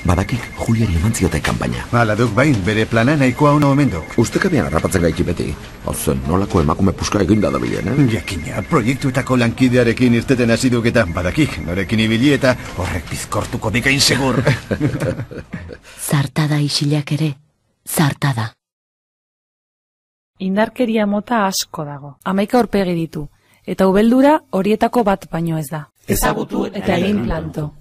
Badakik Juliari eman ziote kanpaina. Hala duk bain, bere plana nahikoa ona omen duk. Ustekabean harrapatzen gaiti beti. Hauzen, nolako emakume puska eginda dabilen, Jakina, proiektuetako lankidearekin irteten hasi duk eta badakik, norekin ibili eta horrek bizkortuko dikain segur. Zartada isilak ere, zartada. Indarkeria mota asko dago. 11 aurpegi ditu, eta ubeldura horietako bat baino ez da. Ezagutu eta egin planto.